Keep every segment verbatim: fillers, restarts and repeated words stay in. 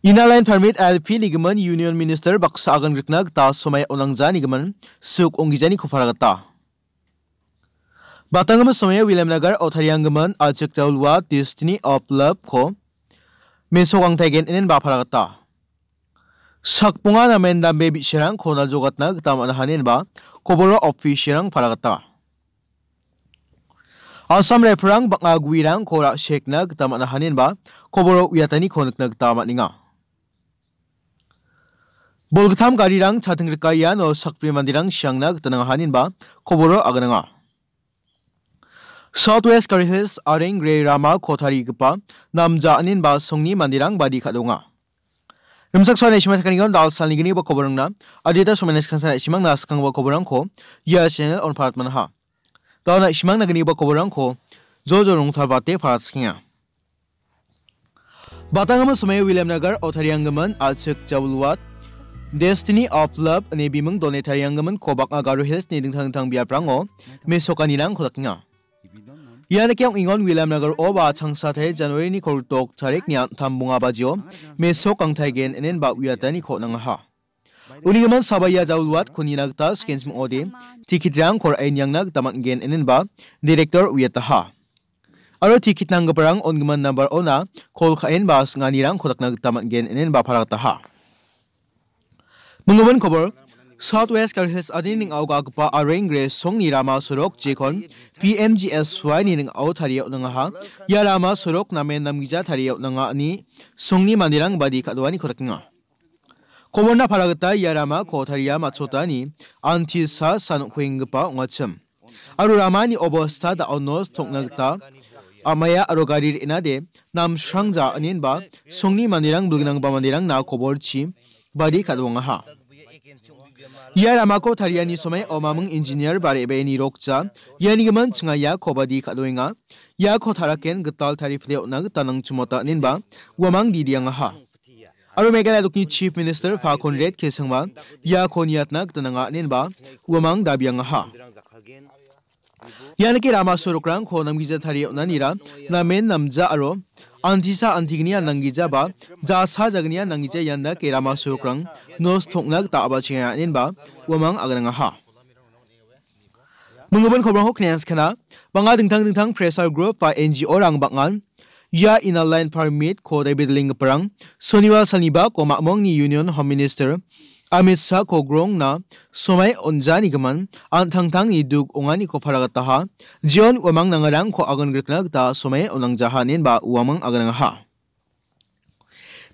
Inner Line Permit I L P nigimin Union Minister baksa agan rikna gita somai onangja nigimin suk onggijaniko paragata. Batanggimin somai William Nagar otarianggimin Ajik Jaulwa Destiny of Love ko mesok angtaigen inen ba paragata. Sakbonga namen dambe bi·sarangko naljogatna gita man·a hanin ba koboro officialrang paragata. Assam Rifle-rang bang·a guerangko ra·sekna gita man·a hanin ba koboro uiataniko nikna gita man·enga. Bolgittam garirang chating rika iano sakbri manderang siangna gita nang·a hanin ba koboro agananga. South West Garo Hills areng re rama ko tarigipa namja anin ba songni manderang badi ka·donga. Rimchaksoa naisima sakanigon dal salni gni ba koborangna adita somai naskangsa naisimangna skangba koborangko ia channel on parat manaha. Dal naisimangna gni ba koborangko jojo rongtalbate parat skenga. Batanggimin somai William Nagar otarianggimin Achik Jawilwat Destiny of Love ine biming done tarianggimin ko bang·a Garo Hills-ni dingtang dingtang biaprango mesokanirangko dakenga. Ia nikeng ong·engon William Nagar-o ba changsatai January-ni kolgrik tarikni an·tam bonga bajio mesok angtaigen inen ba uiataniko nangaha. Unigimin Sabaya Jawilwat konina gita skenchim ong·ode, tikitrangko ra·e niangna gita man·gen inenba direktor uiataha. Aro tikit nanggiparang on·gimin nambar ona kol ka·enba singanirangko dakna gita man·gen inenba paragataha. Minggimin kobor, South West Garo Hills adini ning·ao ga·gipa areng gre songni rama sorok jekon P M G S Y-ni ning·ao tarie on·angaha. Ia rama sorok namen namgija tarie on·anga ine songni manderang badi ka·doaniko dakenga. Koborna para gita ia ramako taria matchotani antisa san nokkuenggipa ong·achim. Aro ramani obosta da·o nos tongna gita am·aia aro gari re·nade namsrangja inenba songni manderang bilgnangba manderangna koborchi badi ka·dongaha. Ia ramako tariani somai omaming engineer ba re·baeni rokja iani gimin chingaiako badi ka·doenga. Iako taraken gital tarifle on·na gita nangchimota inenba uamang didiangaha. Aro Meghalaya dokni Chief Minister Pha Conrad K Sangma iako niatna gita nanga inenba uamang dabiangaha. Ianike rama sorokrangko namgija tarie on·anira namen namja aro antisa antignia nanggijaba jasa jagnia nanggija iandake rama sorokrang nos tongna gita a·bachenga inenba uamang aganangaha. Minggimin kobrangko knianskana, bang·a dingtang dingtang pressure group ba N G O-rang bang·an ia Inner Line Permit-ko daibidalenggiparang sonibar salnibako ma·mongni Union Home Minister Amit Shah-ko grongna somai on·janigimin an·tangtangni duk ong·aniko paragataha, jeon uamang nangarangko agangrikna gita somai on·angjaha inenba uamang aganangaha.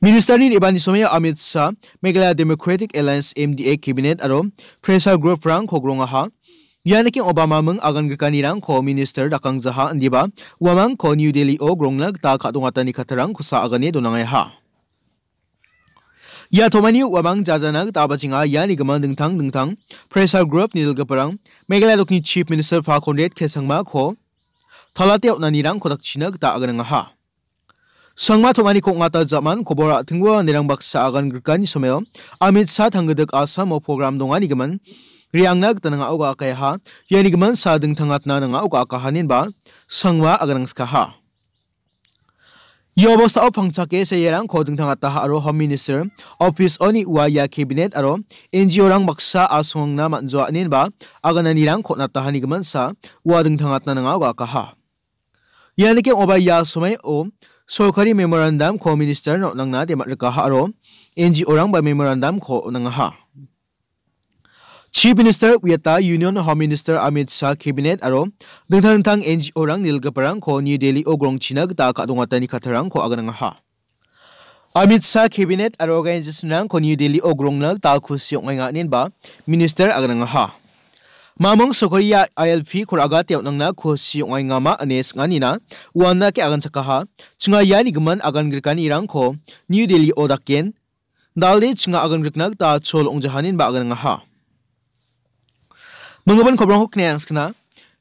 Ministerni re·bani somoi Amit Shah, Meghalaya Democratic Alliance, M D A, Cabinet aro pressure group-rangko grongaha. Ia nikeng Obama ming aganggrikanirangko minister dakangjaha indiba uamangko New Delhi-o grongna gita ka·dongatani kattarangkosa agane donangaha. Ia tomani uamang jajana gita abachenga iani gimin dingtang dingtang pressure group-ni dilgiparang Meghalaya dokni Chief Minister Pha Conrad K Sangma-ko talate on·anirangko dakchina gita aganangaha. Sangma tom·ani kong·ata ja·man kobor a·tingbo manderang baksa agan grikani somao Amit Shah tanggidik Assam-o program donganigimin re·angna gita nang·ao ga·akaha. Ianigimin sa dingtangatna nang·ao ga·akaha inenba Sangma aganangskaha. Ia obostao pangchake sairangko dingtangataha aro Home Minister Office-oni ua ia Cabinet aro N G O-rang baksa asongna man·joa inenba agananirangko on·atahanigimin sa ua dingtangatna nang·ao ga·akaha. Ianike ong·oba ia somao sorkari memorandum-ko minister-no on·angna demat·rikaha aro N G O-rangba memorandum-ko on·angaha. Chief Minister uiata Union Home Minister Amit Shah, Cabinet aro dingtang dingtang N G O-rang nilgiparangko New Delhi-o grongchina gita ka·dongatani kattarangko aganangaha. Amit Shah Cabinet aro organization-rangko New Delhi-o grongna gita kusi ong·aenga inenba minister aganangaha. Mamung Sokoria I L P-ko ra·gate on·angna kusi ong·aengama ine sing·anina uandake aganchakaha. Chinga iani gimin agan grikanirangko New Delhi-o daken, dalde chinga agan grikna gita chol ong·jaha inenba aganangaha. Minggimin kobrangko knianskana.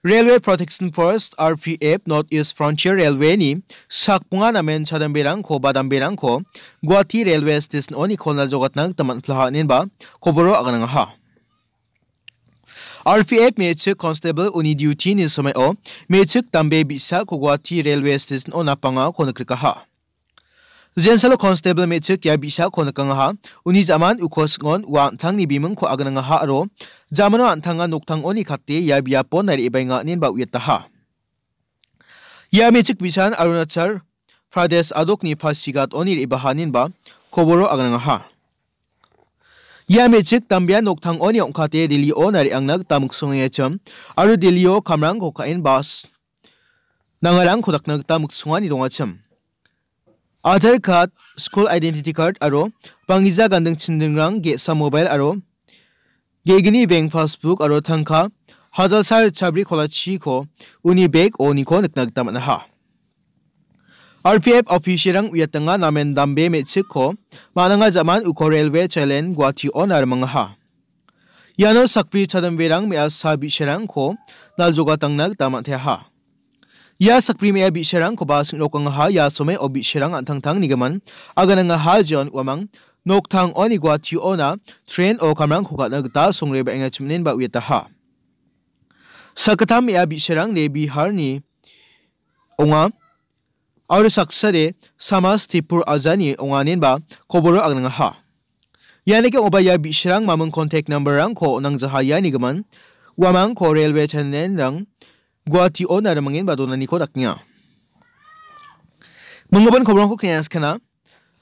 Railway Protection Force, R P F, North East Frontier Railway-ni sakbonga namen chadamberangko ba damberangko Guwahati Railway Station-oni kolna jogatna gita man·plaha inenba koboro aganangaha. R P F me·chik constable uni duty-ni somao me·chik dambe bi·sako Guwahati Railway Station-o napangako nikrikaha. Jensalo constable me·chik ia bi·sako nikangaha. Uni jaman uko sing·on ua an·tangni bimingko agnangaha aro jamano an·tanga noktangoni kate ia biapo naribaenga inenba uiataha. Ia me·chik bisan Arunachal Pradesh adokni Pasighat-oni re·baha inenba koboro agnangaha. Ia me·chik dambea noktangoni ong·kate Delhi-o nariangna gita miksongengachim aro Delhi-o kamrangko ka·enba s-, nangarangko dakna gita miksongani dongachim. Aadhaar card, school identity card aro banggija ganding chindingrang, ge·sa mobile aro ge·gni bank passbook aro tangka hajalsa ritchabri kolachiko uni bag-oniko nikna gita man·aha. R P F officer-rang uiatanga namen dambe me·chikko man·anga jaman uko railway chailen Guwahati-ona rimangaha. Iano sakbri chadamberang me·asa bi·sarangko naljogatangna gita man·teaha. Ia sakbri me·a bi·sarangkoba sing·rokangaha. Ia somoi o bi·sarang an·tangtang nigimin aganangaha jeon uamang noktang oni Guwahati-ona train-o kamrangko ka·na gita songre ba·enga chiminenba uiataha. Sakgittam me·a bi·sarang de Biharni ong·a. Aro saksade Samas Tipur ajani ong·anenba koboro agnangaha. Ianike ong·ba ia bi·sarang maming contact number-rangko on·angjaha ianigimin uamangko railway channel-rang Guwahati-ona rimangenba donaniko dakenga. Minggipa koborongko knia skana.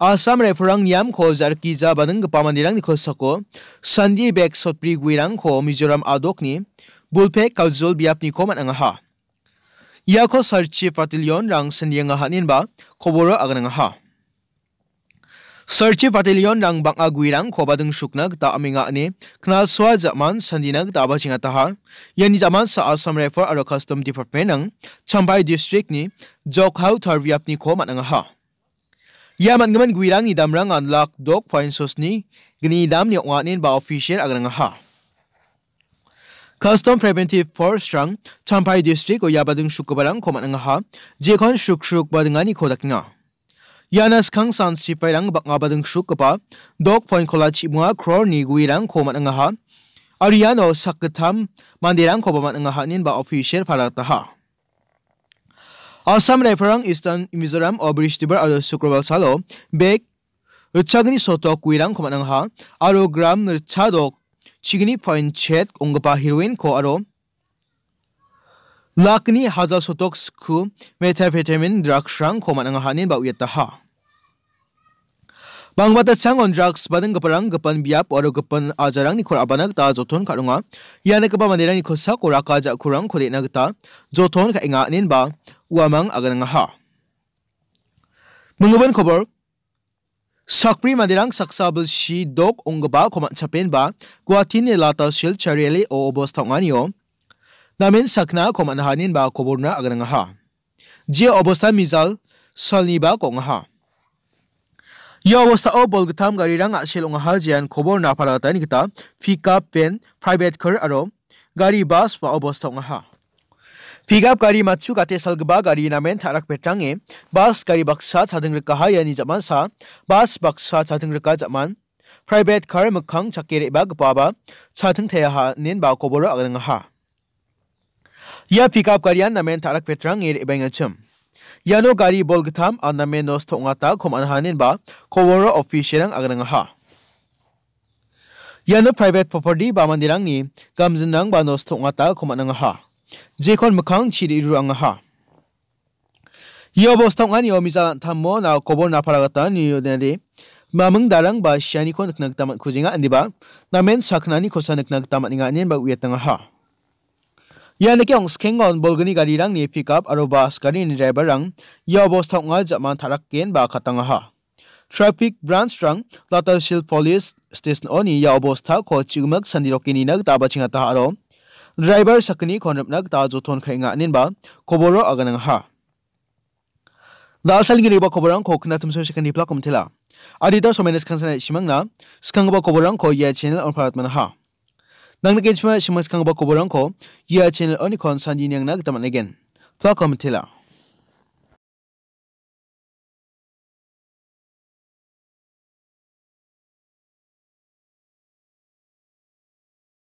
Assam Rifle-rang niamko jarkija badinggipa manderangni kosako sandi bek sotbri guerangko Mizoram adokni Bulpek Kajol biapniko man·angaha. Iako Sarchi Battalion-rang sendienga haninba koboro agnangaha. Sarchi Battalion-rang bang·a guerangko badingsukna gita amenga ine knalsoa jaman sandina gita bachengataha. Iani jamansa Assam Rifle aro Custom Department-rang Champhai District-ni Jokhau tarbiapniko man·angaha. Ia man·gimin guerangni damrangan lak dok point sosni gni damni ong·a inenba official agnangaha. Custom Preventive Force-rang Champhai District-o ia badingsukgiparangko man·angaha, jekon sruksruk badinganiko dakenga. Iana skangsan sipairang bang·a badingsukgipa dok point kola chibonga crore-ni guerangko man·angaha, aro iano sakgittam manderangkoba man·angaha inenba official palataha. Assam Rifle-rang Eastern Mizoram-o Bristibar aro Sukrobar salo bek ritchagni sotok guerangko man·angaha aro gram ritchadok chigni point chet ong·gipa heroin-ko aro lakni hajal sotok sku methamphetamine drugs-rangko man·angaha inenba uiataha. Bangbatachangon drugs badinggiparang gipin biap aro gipin ajarangni kor abana gita joton ka·ronga. Ia nikgipa manderangni kosako raka ja·kurangko de·na gita joton ka·enga inenba uamang aganangaha. Minggipa kobor, sakbri manderang saksa bilsi dok ong·gipako man·chapenba Guwahatini Lata Silchar Rally-o obosta ong·anio namen saknako man·aha inenba koborna aganangaha. Jia obosta mijal salnibako ong·aha. Ia obostao bolgittam garirang a·sel ong·aha, jean kobor naparatani gita pickup van, private car aro gari bas ba obosta ong·aha. Pickup gari matchu gate salgipa gari namen ta·rak betrange bas gari baksa chadingrikaha. Iani jamansa bas baksa chadingrika jaman private car mikkang chake re·bagipaba chadingteaha inenba koboro aganangaha. Ia pickup garian namen ta·rak betrange re·baengachim. Iano gari bolgittam an namen nosto ong·atako man·aha inenba koboro official-rang aganangaha. Iano private property ba manderangni gamjinrangba nosto ong·atako man·angaha. Jekon mikkangchi re·rurangaha. Ia obosta ong·anio mijal an·tamo na kobor napara gita nio dende maming darang ba sianiko nikna gita man·kujenga, indiba namen saknani kosa nikna gita man·enga inenba uiatangaha. Ia nike ong·skengon bolgni garirangni pickup aro bas garini driver-rang ia obosta ong·a jaman ta·rakgen ba katangaha. Traffic branch-rang Latasil Police Station-oni ia obostako chigimik sandiroke nina gita bachengataha aro driver sakgniko ripna gita joton ka·enga inenba koboro aganangaha. Da·alsalginigipa koborangko knatimso sekani plak omtela. Adita somenis kansana isimangna skanggipa koborangko ia channel on parat manaha. Nang nikenggipa simang skanggipa koborangko ia channel onikon sandi niangna gita man·egen. Plak omtela.